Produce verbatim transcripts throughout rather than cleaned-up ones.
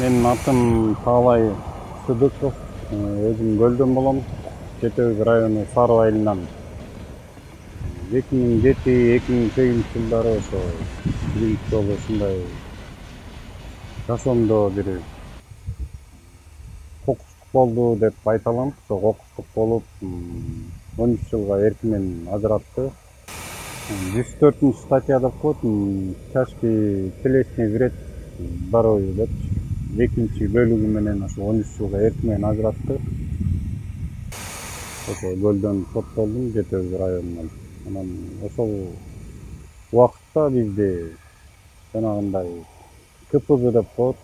Менин атым Таалай Сыдыков. Өзүм Көлдөн болом. Жети Өз району Сары айылынан. эки миң жети эки миң сегизинчи жылдары ошо биринчи жолу ушундай жашоомдо бир кокустук болду деп айта алам. Ошо кокустук болуп он үч жылга эркимен ажыратты. жүз төртүнчү статья деп коет, тяжкий телесный вред здоровью деп экинчи бөлүгү менен ошо он үч жылга эркимен ажыратты. Ошо Көлдөн соттолдум, Жети Өз районунан. Анан ошол убакытта бизди жанагындай КПЗ деп коет.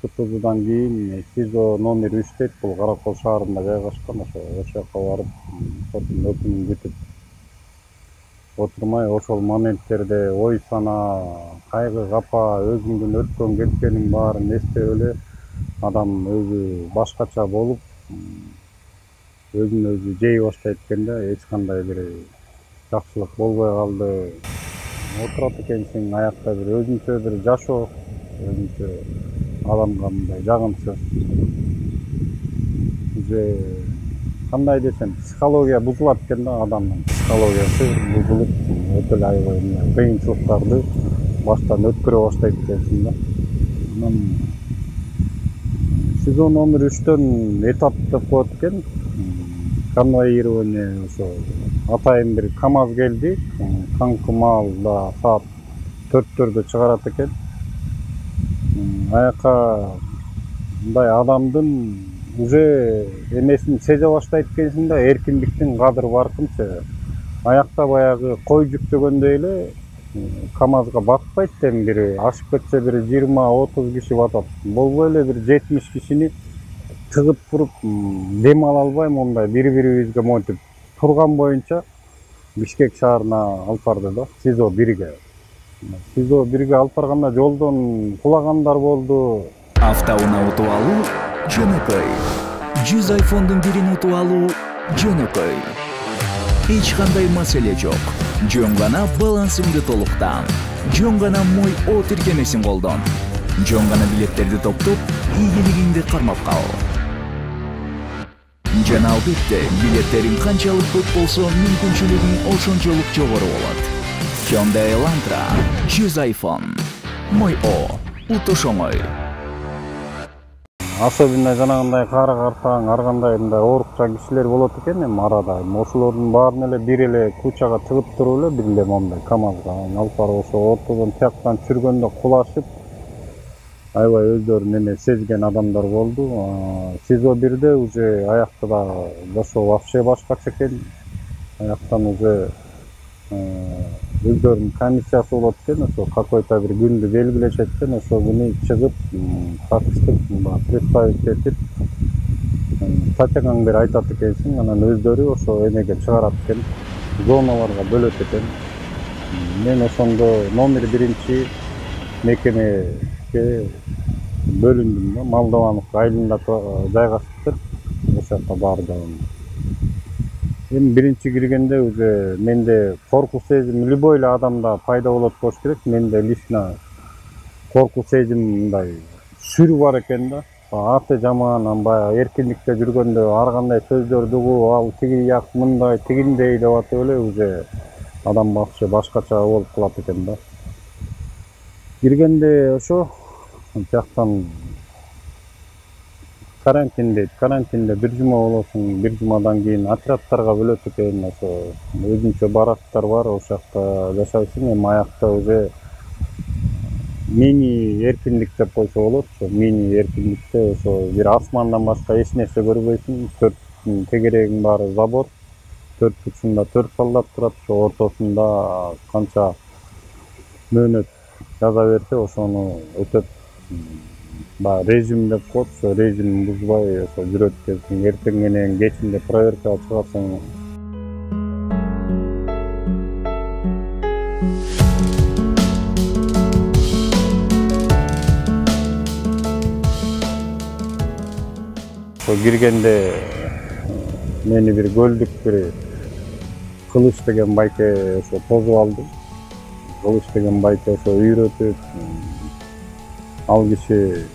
КПЗдан кийин СИЗО номер үч дейт, бул Каракол шаарында жайгашкан. Ошо ошол жака барып соттун өкүмүн күтүп отурмай, ошол моменттерде ой сана, кайгы капа, өзүңдүн өткөн кеткениң баарын эстеп эле адам өзү башкача болуп, өзүн өзү жей баштайт экен да, эч кандай бир жакшылык болбой калды. Отурат экенсиң, аякта бир өзүнчө бир жашоо, өзүнчө адамга мындай жагымсыз. Уже кандай десем, психология бузулат экен да, адамдын психологиясы бузулуп, өтө эле аябай кыйынчылыктарды баштан өткөрө баштайт экенсиң да. Анан СИЗО номер үчтөн этап деп коет экен. Конвоирование, ошо атайын бир КАМАЗ келди. Таңкы маалда саат төрттөрдө чыгарат экен. Аяка мындай адамдын уже эмесин сезе баштайт экенсиң да, эркиндиктин кадыры баркынча. Аякта баягы кой жүктөгөндөй эле КАМАЗга батпайт, эми бир ашып кетсе бир жыйырма отуз киши батат. Болбой эле бир жетимиш кишини тыгып туруп дем ала албай, мондай бири-бирибизге монтип турган боюнча Бишкек шаарына алып барды да, СИЗО бирге. СИЗО бирге алып барганда жолдон кулагандар болду. Автоунаа утуп алуу жөнөкөй. жүз айфондун бирин утуп алуу жөнөкөй. Эч кандай маселе жок. Жөн гана балансыңды толуктан. Жөн гана Мой О тиркемесин колдон. Жөн гана билеттерди топтоп, ийгилигиңди кармап кал. Жана албетте, билеттериң канчалык көп болсо, мүмкүнчүлүгүң ошончолук жогору болот. Hyundai Elantra, жүз айфон. Мой О, утуш оңой. Особенно жанагындай кара картаң, ар кандай мындай оорукчан кишилер болот экен эми арада. Ошолордун баарын эле бир эле кучага тыгып туруп эле бир эле момундай КАМАЗга алып барып ошо ортодон тияктан чүргөндө кулашып, аябай өздөрүн эме сезген адамдар болду. СИЗО бирде уже аякта да жашоо вообще башкача экен. Аяктан уже өздөрүнүн комиссиясы болот экен, ошо какой-то бир күндү белгилешет экен, ошол күнү чыгып, тактыштык представить этип, статьяңды айтат экенсиң, анан өздөрү ошо эмеге чыгарат экен, зоналарга бөлөт экен. Мен ошондо номер биринчи мекемеге бөлүндүм да, Молдованов айылында жайгашыптыр. Ошол жакка бардым. Эми биринчи киргенде уже менде корку сезим любой эле адамда пайда болот болуш керек. Менде лично корку сезим мындай сүр бар экен да. Аты жаман, баягы эркиндикте жүргөндө ар кандай сөздөрдү угуп, ал тиги як мындай, тигиндей деп атып эле уже адам вообще башкача болуп калат экен да. Киргенде ошо жактан карантин дейт. Карантинде бир жума болосуң, бир жумадан кийин отрядтарга бөлөт экен. Ошо өзүнчө барактар бар, ошол жакта жашайсың. Эми аякта уже мини эркиндик деп койсо болот. Ошо мини эркиндикте ошо бир асмандан башка эч нерсе көрбөйсүң. Төрт тегерегиң баары забор. Төрт бутунда төрт солдат турат. Ошо ортосунда канча мөөнөт жаза берсе, ошону өтөп, баягы режим деп коет, ошо режимин бузбай ошо жүрөт экенсиң. Эртең менен кечинде проверкага чыгасың. Ошо киргенде мени бир көлдүк бир Кылыч деген байке ошо тосуп алды. Кылыч деген байке ошо үйрөтүп, ал киши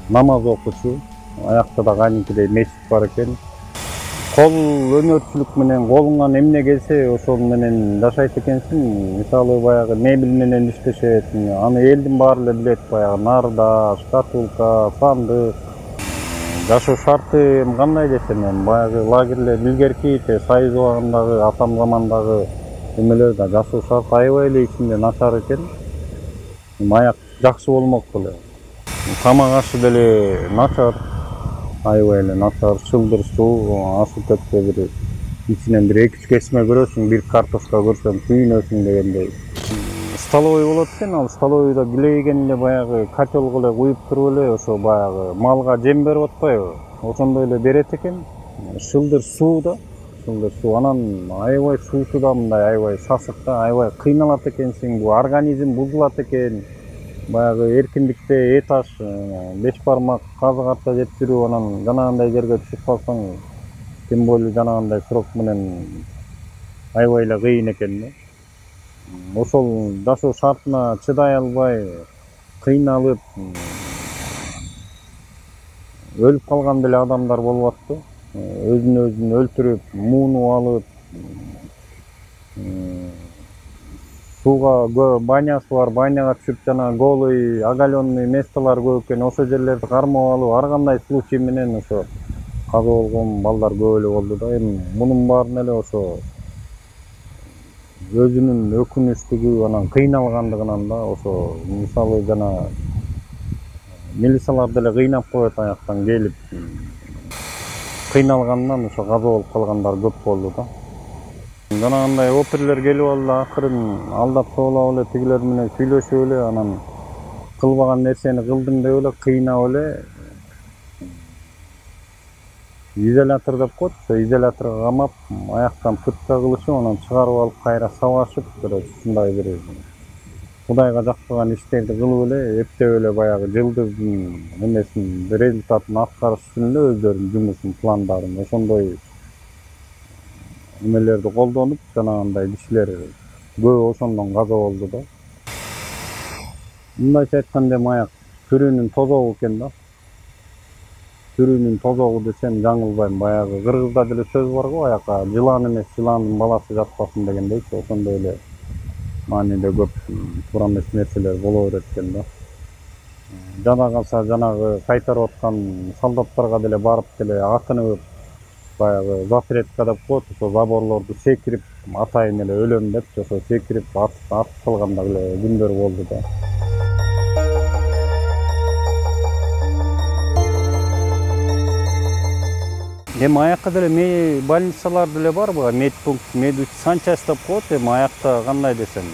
намаз окучу, аякта да кайныкидей мечит бар экен. Кол өнөрчүлүк менен колуңан эмне келсе ошол менен жашайт экенсиң. Мисалы баягы мебель менен иштешет, аны элдин баары эле билет. Баягы нарда, шкатулка, сандык. Жашоо шарты кандай десем, эми баягы лагерлер илгерки Союз убагындагы атам замандагы эмелер да жашоо шарты аябай эле ичинде начар экен. Аяк жакшы болмок беле. Тамак ашы деле начар, аябай эле начар, чылдыр суу, асы төккө бир ичинен бир эки үч кесме көрөсүң, бир картошка көрсөң күйүнөсүң дегендей. Столовый болот экен, ал столовыйда билейген эле баягы котелго эле куюп туруп эле ошо баягы малга жем берип атпайбы, ошондой эле берет экен. Чылдыр суу да, чылдыр суу, анан аябай суусу да мындай аябай сасык да, аябай кыйналат экенсиң, бул организм бузулат экен. Баягы эркиндикте эт аш, беш бармак казык арта жеп жүрүп, анан жанагындай жерге түшүп калсаң, тем более жанагындай срок менен аябай эле кыйын экен да. Ошол жашоо шартына чыдай албай, кыйналып, өлүп калган деле адамдар болуп атты. Өзүн өзүн өлтүрүп, муунуп алып, сууга банясы бар, баняга түшүп жана голый, оголенный местолор көп экен, ошол жерлерди кармап алып, ар кандай случай менен ошо каза болгон балдар көп эле болду да. Эми мунун баарын эле ошо өзүнүн өкүнүчтүгү, анан кыйналгандыгынан да, ошо мисалы жана милициялар деле кыйнап коет аяктан келип, кыйналгандан ошо каза болуп калгандар көп болду да. Жанагындай оперлер келип алды, акырын алдап соолап эле тигилер менен сүйлөшүп эле, анан кылбаган нерсени кылдың деп эле кыйнап эле изолятор деп коет, ошо изоляторго камап, аяктан пытка кылышып, анан чыгарып алып кайра сабашып, короче, ушундай бир Кудайга жакпаган иштерди кылып эле, эптеп эле баягы жылдыздын эмесин, результатын аткарыш үчүн эле өздөрүнүн жумушун, пландарын, ошондой эмелерди колдонуп, жанагындай кишилер көбү ошондон каза болду да. Мындайча айтканда эми аяк түрүнүн тозогу экен да. Түрүнүн тозогу десем жаңылбайм, баягы кыргызда деле сөз бар го, аякка жылан эмес, жыландын баласы жатпасын дегендейчи, ошондой эле мааниде көп туура эмес нерселер боло берет экен да. Жада калса жанагы кайтарып аткан солдаттарга деле барып деле акынып, баягы запретка деп коет, ошо заборлорду секирип, атайын эле өлөм деп, ошо секирип атып калган деле күндөр болду да. Эми аякка деле больницалар деле барбы, медпункт, медсанчасть деп коет, эми аякта кандай десем,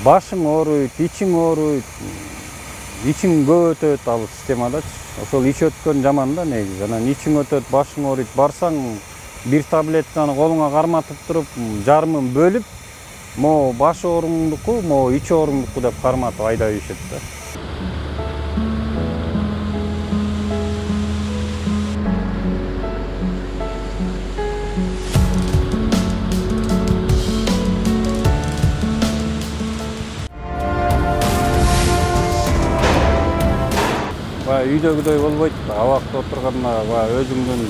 башың ооруйт, ичиң ооруйт, ичиң көп өтөт ал системадачы. Ошол ич өткөн жаман да негизи. Анан ичиң өтөт, башың ооруйт, барсаң бир таблетканы колуңа карматып туруп, жарымын бөлүп, могу баш ооруңдуку, могу ич ооруңдуку деп карматып айдап ийишет да. Үйдөгүдөй болбойт, абакта отурганда өзүңдүн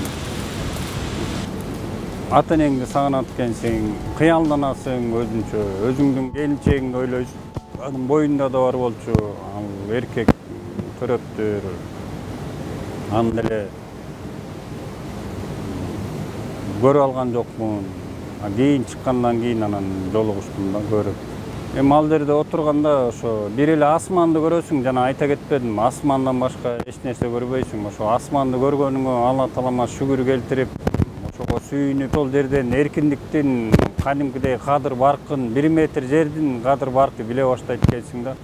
ата энеңди сагынат экенсиң, кыялданасың өзүнчө, өзүңдүн келинчегиңди ойлойсуң. Анын боюнда да бар болчу, ал эркек төрөптүр, аны деле көрүп алган жокмун. Кийин чыккандан кийин анан жолугуштум да, көрүп. Эми ал жерде отурганда ошо бир эле асманды көрөсүң, жана айта кетпедим, асмандан башка эч нерсе көрбөйсүң. Ошо асманды көргөнүңө Алла Таалама шүгүр келтирип, ошого сүйүнүп, сол жерден эркиндиктин кадимкидей кадыр баркын, бир метр жердин кадыр баркы биле баштайт экенсиң да.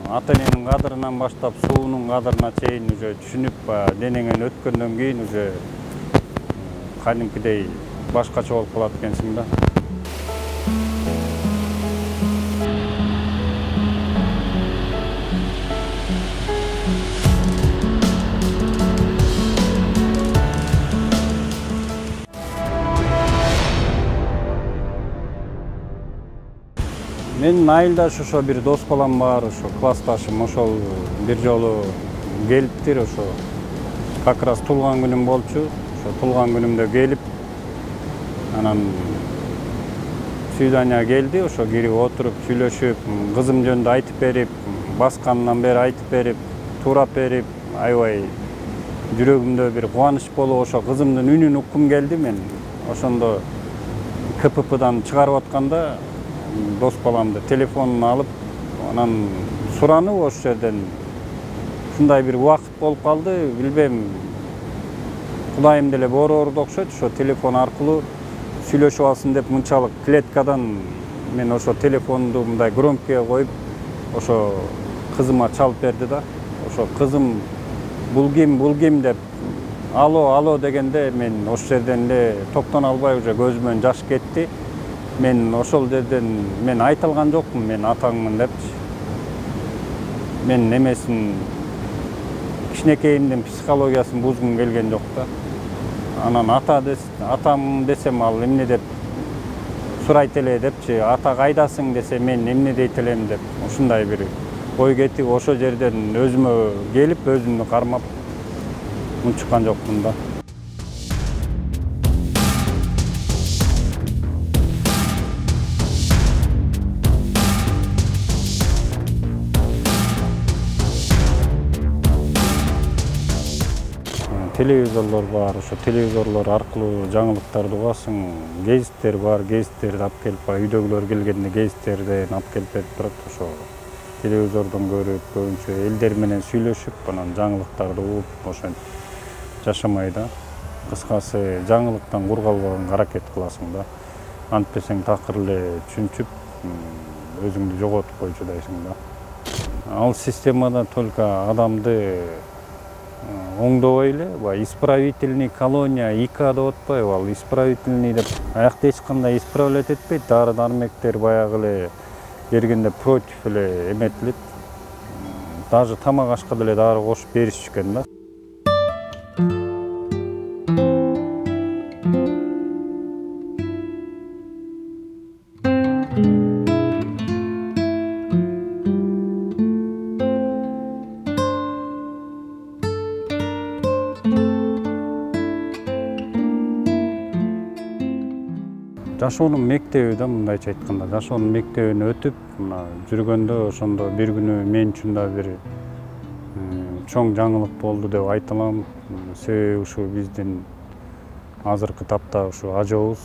Ата эненин кадырынан баштап суунун кадырына чейин уже түшүнүп, денеңен өткөндөн кийин уже кадимкидей башкача болуп калат экенсиң да. Менин айылдаш ошо бир дос балам бар, ошо классташым, ошол бир жолу келиптир, ошо как раз туулган күнүм болчу. Ошо туулган күнүмдө келип, анан свидания келди, ошо кирип отуруп сүйлөшүп, кызым жөнүндө айтып берип, баскандан бери айтып берип, туурап берип, аябай жүрөгүмдө бир кубаныч болуп, ошо кызымдын үнүн уккум келди. Мен ошондо ка пэ пэдан чыгарып атканда дос баламды телефонун алып, анан суранып ошол жерден ушундай бир убакыт болуп калды, билбейм, кудайым деле борорду окшойт, ошо телефон аркылуу сүйлөшүп алсын деп мынчалык клеткадан мен ошо телефонду мындай громкийге коюп, ошо кызыма чалып берди да. Ошо кызым бул ким, бул ким деп алло, алло дегенде мен ошол жерден эле токтоно албай уже көзүмөн жаш кетти. Мен ошол жерден мен айта алган жокмун, мен атаңмын депчи. Мен немесин, кичинекейимдин психологиясын бузгум келген жок да. Анан ата атам десем ал эмне деп сурайт эле депчи, ата кайдасың десе мен эмне дейт элем деп, ушундай бир ой кетип, ошол жерден өзүмө келип, өзүмдү кармап унчуккан жокмун да. Телевизорлор бар, ошо телевизорлор аркылуу жаңылыктарды угасың, гезиттер бар, гезиттерди алып келип, үйдөгүлөр келгенде гезиттерден алып келип берип турат. Ошо телевизордон көрүп, көбүнчө элдер менен сүйлөшүп, анан жаңылыктарды угуп, ошентип жашамай да. Кыскасы, жаңылыктан кур калбаганга аракет кыласың да. Антпесең такыр эле чүнчүп, өзүңдү жоготуп койчудайсың да. Ал системада только адамды оңдобой эле, баягы исправительный колония И К деп атпайбы, ал исправительный деп аякта эч кандай исправлять этпейт, дары дармектер баягы эле бергенде против эле эметилет. Даже тамак ашка деле дары кошуп беришишкен да. Жашоонун мектеби да, мындайча айтканда, жашоонун мектебин өтүп, мына жүргөндө ошондо бир күнү мен үчүн да бир чоң жаңылык болду деп айта алам. Себеби ушу биздин азыркы тапта ушу ажообуз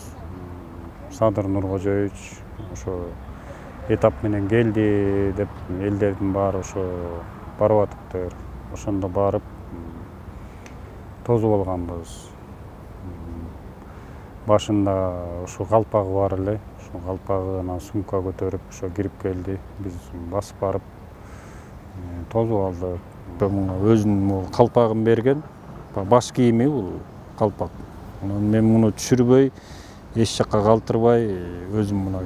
Садыр Нуркожоевич ошо этап менен келди деп элдердин баары ошо барып атыптыр. Ошондо барып тосуп алганбыз. Башында ошо калпагы бар эле, ошо калпагы анан сумка көтөрүп ошо кирип келди. Биз басып барып тосуп алдык. Өзүнүн калпагын берген, баш кийими бул калпак. Мен муну түшүрбөй, эч жакка калтырбай өзүм муну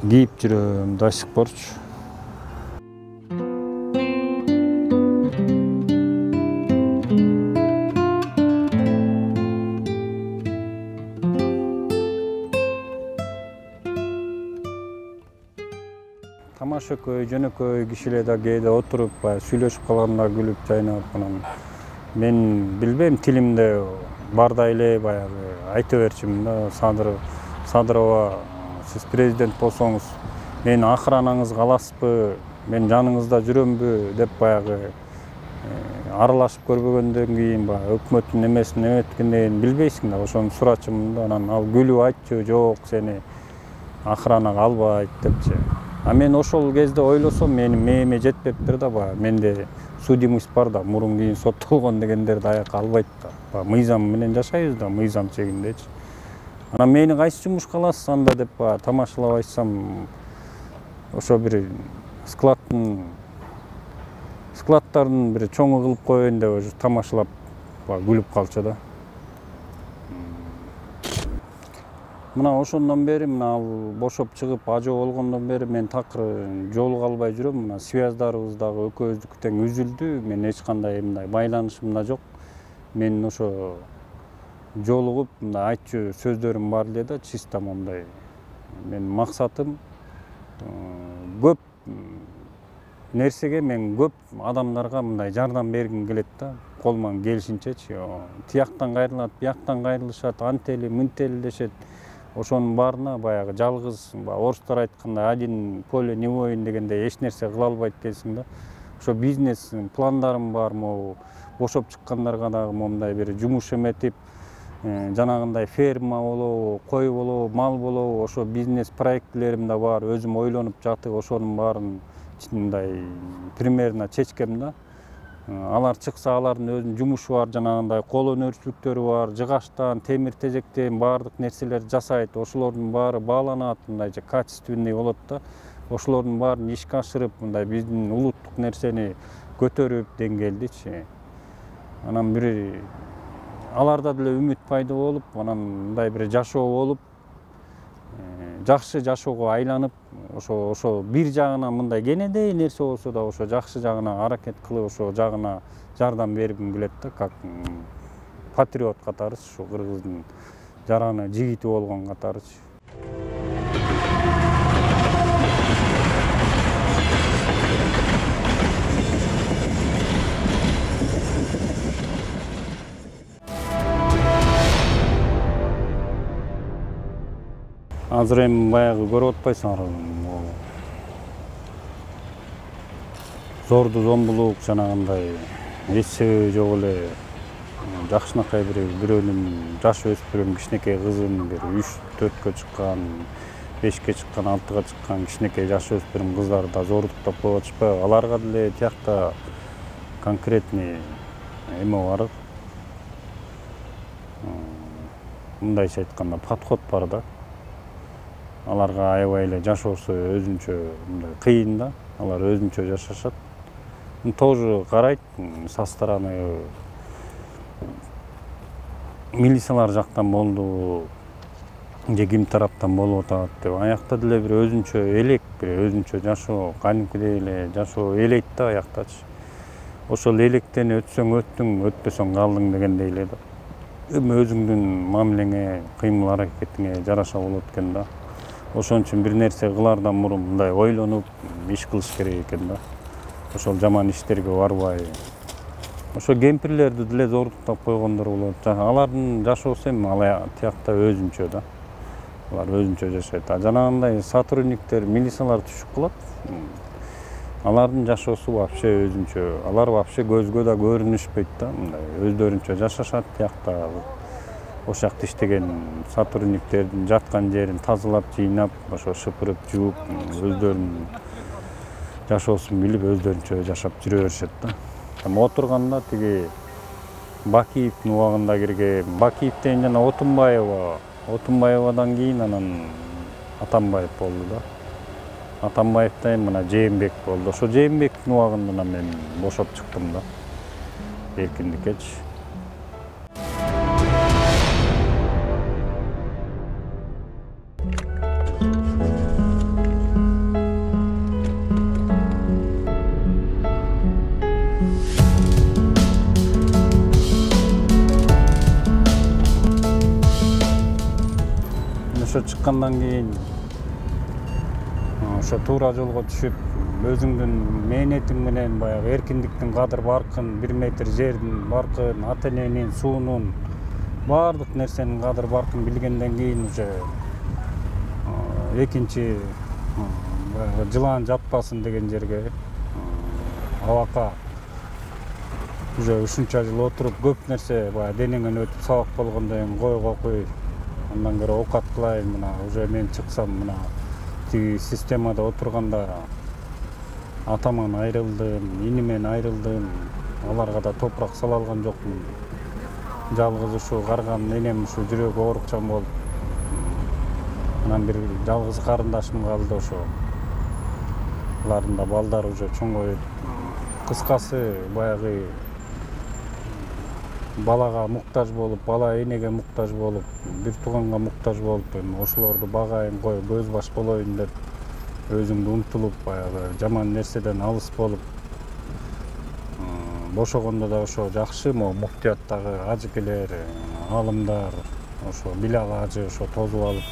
кийип жүрөм до сих порчу. Тамашөкөй, жөнөкөй кишилер да кээде отуруп, сүйлөшүп калганда күлүп, жайнап, анан мен билбейм, тилимде бардай эле баягы айта берчүмүн да. Садыр Садырова, сиз президент болсоңуз, менин охранаңызга аласызбы, мен жаныңызда жүрөмбү деп баягы аралашып көрбөгөндөн кийин, баягы өкмөттүн эмесин эметкенден кийин билбейсиң да, ошону сурачумун да. Анан ал күлүп айтчу, жок, сени охранага албайт депчи. А мен ошол кезде ойлосом, менин мээме жетпептир да, баягы менде судимость бар да, мурун кийин соттолгон дегендерди аякка албайт да. Мыйзам менен жашайбыз да, мыйзам чегиндечи. Анан мени кайсы жумушка аласыз анда деп тамашалап айтсам, ошо бир складтын складдардын бир чоңу кылып коеюн деп тамашалап күлүп калчу да. Мына ошондон бери, мына ал бошоп чыгып ажоо болгондон бери мен такыр жолуга албай жүрөм. Мына связдарыбыз дагы экөөбүздүкү тең үзүлдү. Мен эч кандай мындай байланышым да жок. Мен ошо жолугуп мындай айтчу сөздөрүм бар эле да, чисто моундай. Менин максатым көп нерсеге мен көп адамдарга мындай жардам бергим келет да, колуман келишинчечи. Тияктан кайрылат, бияктан кайрылышат, антели, мынтели дешет. Ошонун баарына баягы жалгыз, орустар айткандай один поле не воин дегендей эч нерсе кыла албайт экенсиң да. Ошо бизнес пландарым бар, могу бошоп чыккандарга дагы момундай бир жумуш эметип, жанагындай ферма болобу, кой болобу, мал болобу, ошо бизнес проектлерим да бар, өзүм ойлонуп жатып, ошонун баарын мындай примерно чечкем да. Алар чыкса, алардын өзүнүн жумушу бар, жанагындай кол өнөрчүлүктөрү бар, жыгачтан, темир тезектен баардык нерселерди жасайт. Ошолордун баары бааланат, мындайча качественный болот да. Ошолордун баарын ишке ашырып, мындай биздин улуттук нерсени көтөрүп, деңгээлдичи. Анан бир аларда деле үмүт пайда болуп, анан мындай бир жашоо болуп, жакшы жашоого айланып, ошо ошо бир жагынан мындай кенедей нерсе болсо да ошо жакшы жагына аракет кылып, ошо жагына жардам бергим келет да, как патриот катарычы, ушу кыргыздын жараны жигити болгон катарычы. Азыр эми баягы көрүп атпайсыңарбы, зорду зомбулук, жанагындай эч себеби жок эле жакшынакай бир бирөөнүн жаш өспүрүм кичинекей кызын, бир үч төрткө чыккан, бешке чыккан, алтыга чыккан кичинекей жаш өспүрүм кыздарды да зордуктап коюп атышпайбы? Аларга деле тиякта конкретный эме бар. Мындайча айтканда подход бар да. Аларга аябай эле жашоосу өзүнчө мындай кыйын да. Алар өзүнчө жашашат. Тоже карайт со стороны милициялар жактан болду, же ким тараптан болуп атат деп. Аякта деле бир өзүнчө элек, бир өзүнчө жашоо, кадимкидей эле жашоо элейт да аяктачы. Ошол электен өтсөң өттүң, өтпөсөң калдың дегендей эле да. Эми өзүңдүн мамилеңе, кыймыл аракетиңе жараша болот экен да. Ошон үчүн бир нерсе кылаардан мурун мындай ойлонуп иш кылыш керек экен да. Ошол жаман иштерге барбай. Ошо кемпирлерди деле зордуктап койгондор болот. Алардын жашоосу эми ал тиякта өзүнчө да. Алар өзүнчө жашайт. А жанагындай сотрудниктер, милициялар түшүп калат. Алардын жашоосу вообще өзүнчө. Алар вообще көзгө да көрүнүшпөйт да. Мындай өздөрүнчө жашашат тиякта. Ошол жакта иштеген сотрудниктердин жаткан жерин тазалап, жыйнап, ошо шыпырып, жууп, өздөрүнүн жашоосун билип, өздөрүнчө жашап жүрө беришет да. Эми отурганда тиги Бакиевдин убагында кирген, Бакиевден жана Отунбаева, Отунбаевадан кийин анан Атамбаев болду да. Атамбаевден мына Жээнбек болду. Ошо Жээнбектин убагында мен бошоп чыктым да. Эркиндиккечи. Ошо чыккандан кийин ошо туура жолго түшүп, өзүңдүн мээнетиң менен баягы эркиндиктин кадыр баркын, бир метр жердин баркын, ата эненин, суунун, баардык нерсенин кадыр баркын билгенден кийин уже экинчи баягы жылаан жатпасын деген жерге абакка уже ушунча жыл отуруп көп нерсе баягы денеңен өтүп сабак болгондон кийин койго кой. Андан көрө оокат кылайын, мына уже мен чыксам, мына тиги системада отурганда атаман айрылдым, инимен айрылдым, аларга да топурак сала алган жокмун. Жалгыз ушу карган энем ушу жүрөгү оорукчан болуп, анан бир жалгыз карындашым калды ошо. Алардын да балдары уже чоңоюп. Кыскасы баягы балага муктаж болуп, бала энеге муктаж болуп, бир тууганга муктаж болуп, эми ошолорду багайын, коюп, көз баш болоюн деп өзүңдү умтулуп, баягы жаман нерседен алыс болуп, бошогондо да ошо жакшы, могу муфтияттагы ажыкелер, аалымдар, ошо билак ажы ошо тосуп алып,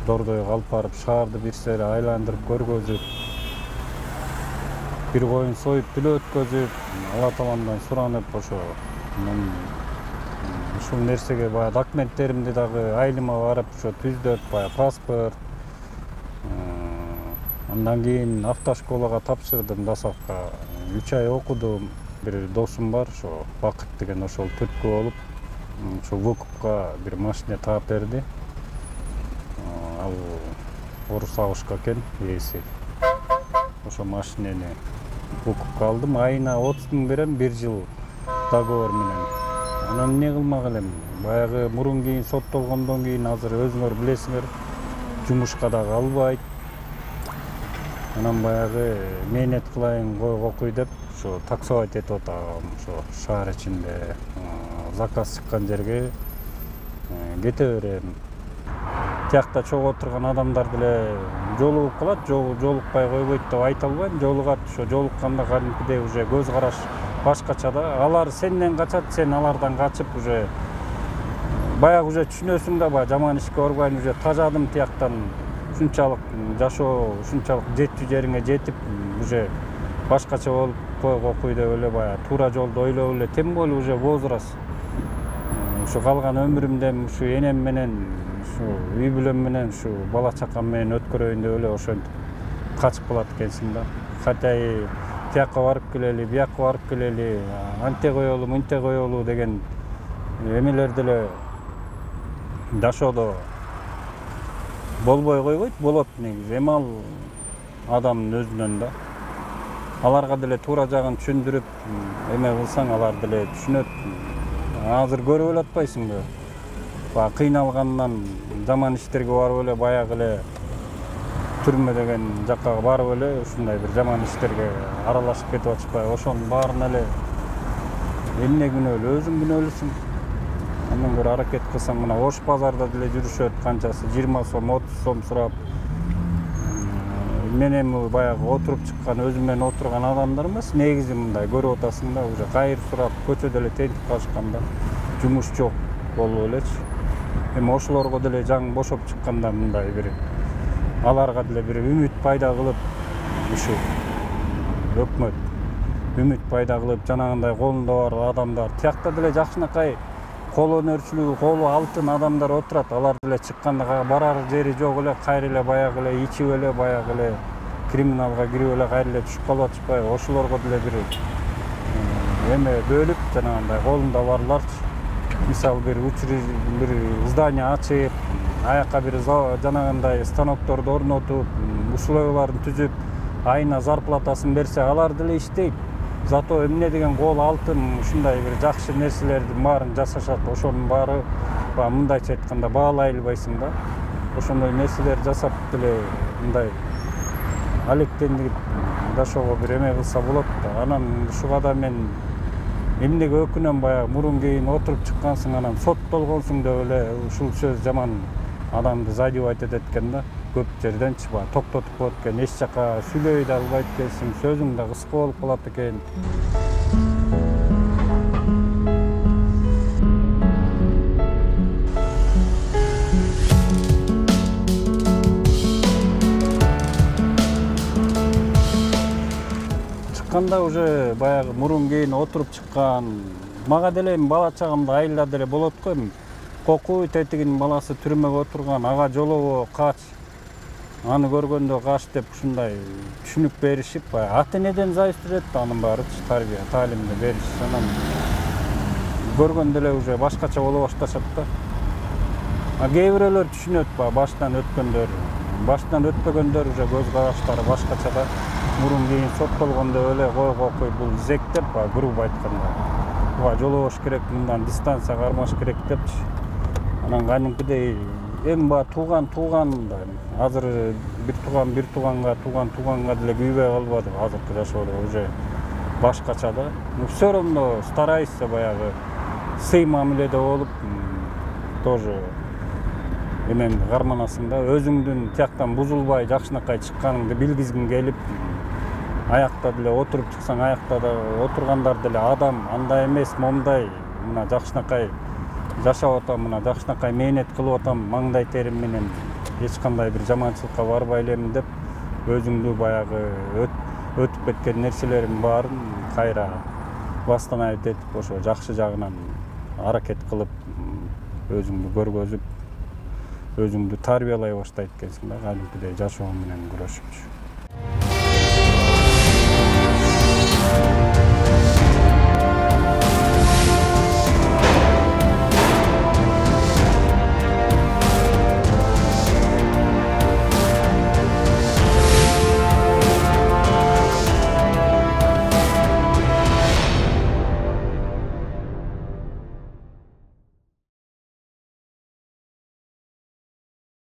Дордойго алып барып шаарды бир сери айландырып көргөзүп, бир коюн союп тил өткөзүп, Алла Тааландан суранып, ошо мен ушул нерсеге баягы документтеримди дагы айылыма барып ошо түздөп, баягы паспорт, андан кийин автошколага тапшырдым, Дасовко үч ай окудум. Бир досум бар, ошо Бакыт деген, ошол түрткү болуп, ошо выкупка бир машина таап берди. Ал орус агышка экен ээси. Ошо машинени выкупка алдым. Айына отуз миң берем, бир жыл договор менен. Анан эмне кылмак элем? Баягы мурун кийин соттолгондон кийин азыр өзүңөр билесиңер, жумушка дагы албайт. Анан баягы мээнет кылайын, койго окуй деп ошо таксовать этип атам, ошо шаар ичинде заказ чыккан жерге кете берем. Тиякта чогуу отурган адамдар деле жолугуп калат, жолукпай койбойт деп айта албайм, жолугат. Ошо жолукканда кадимкидей уже көз караш башкача да. Алар сенден качат, сен алардан качып уже баягы уже түшүнөсүң да, баягы жаман ишке барбайм, уже тажадым тияктан. Ушунчалык жашоо, ушунчалык жетчү жериңе жетип, уже башкача болуп койго окуй деп эле баягы туура жолду ойлоп эле тем более уже возраст. Ушу калган өмүрүмдө ушу энем менен, ушу үй бүлөм менен, ушу бала чакам менен өткөрөйүн деп эле ошентип качып калат экенсиң да. Хотя тияка барып келели, бияка барып келели, анте коелу, мынте коелу деген эмелер деле жашоодо болбой койбойт, болот негизи. Эми ал адамдын өзүнөн да. Аларга деле туура жагын түшүндүрүп, эме кылсаң алар деле түшүнөт. Азыр көрүп эле атпайсыңбы? Баягы кыйналгандан жаман иштерге барып эле баягы эле түрмө деген жакка барып эле ушундай бир жаман иштерге аралашып кетип атышпайбы? Ошонун баарын эле эмне күнөөлүү, өзүң күнөөлүсүң. Андан көрө аракет кылсаң, мына Ош базарда деле жүрүшөт, канчасы жыйырма сом, отуз сом сурап. Мен эми баягы отуруп чыккан, өзүм менен отурган адамдар эмес, негизи мындай көрүп атасың да, уже кайыр сурап, көчөдө эле тентип калышканда, жумуш жок болуп элечи. Эми ошолорго деле жаңы бошоп чыкканда мындай бир аларга деле бир үмүт пайда кылып, ушу өкмөт үмүт пайда кылып, жанагындай колунда бар адамдар, тиякта деле жакшынакай кол өнөрчүлүгү, колу алтын адамдар отурат. Алар деле чыкканда барар жери жок эле, кайра эле баягы эле ичип эле, баягы эле криминалга кирип эле кайра эле түшүп калып атышпайбы? Ошолорго деле бир эме бөлүп, жанагындай колунда барларчы, мисалы бир бир здание ачып, аякка бир жанагындай станокторду орнотуп, условияларын түзүп, айына зарплатасын берсе, алар деле иштейт. Зато эмне деген кол алтын, ушундай бир жакшы нерселердин баарын жасашат. Ошонун баары мындайча айтканда баалай албайсың да. Ошондой нерселер жасап деле мындай алектенип жашоого бир эме кылса болот да. Анан ушуга да мен эмнеге өкүнөм, баягы мурун кийин отуруп чыккансың, анан соттолгонсуң деп эле ушул сөз жаман адамды задевать этет экен да. Көп жерденчи баягы токтотуп коет экен, эч жака сүйлөй да албайт экенсиң, сөзүң да кыска болуп калат экен. Чыкканда уже баягы мурун кийин отуруп чыккан, мага деле эми бала чагымда айылда деле болот го эми. Кокуй тетигинин баласы түрмөгө отурган, ага жолобо кач, аны көргөндө каш деп ушундай түшүнүк беришип, баягы ата энеден зависить этет да, анын баарычы тарбия, таалимди бериш. Анан көргөндө эле уже башкача боло башташат да. А кээ бирөөлөр түшүнөт, баягы баштан өткөндөр, баштан өтпөгөндөр уже көз караштары башкача да. Мурун кийин соттолгондо эле койго окуй, бул зек деп, баягы грубо айтканда. Буга жолобош керек, мындан дистанция кармаш керек депчи. Анан кадимкидей эми баягы тууган тууган да, азыр бир тууган бир тууганга, тууган тууганга деле күйбөй калбады азыркы жашоодо, уже башкача да. Но все равно старайся баягы сый мамиледе болуп, тоже эмен карманасың да, өзүңдүн тияктан бузулбай жакшынакай чыкканыңды билгизгиң келип, аякта деле отуруп чыксаң, аякта да отургандар деле адам, андай эмес, момдай, мына жакшынакай жашап атам, мына жакшынакай мээнет кылып атам, маңдай терим менен эч кандай бир жаманчылыкка барбай элем деп өзүңдү баягы өтүп кеткен нерселердин баарын кайра бастан айтып этип ошо жакшы жагынан аракет кылып өзүңдү көргөзүп өзүңдү тарбиялай баштайт экенсиң да, кадимкидей жашоо менен күрөшүпчү.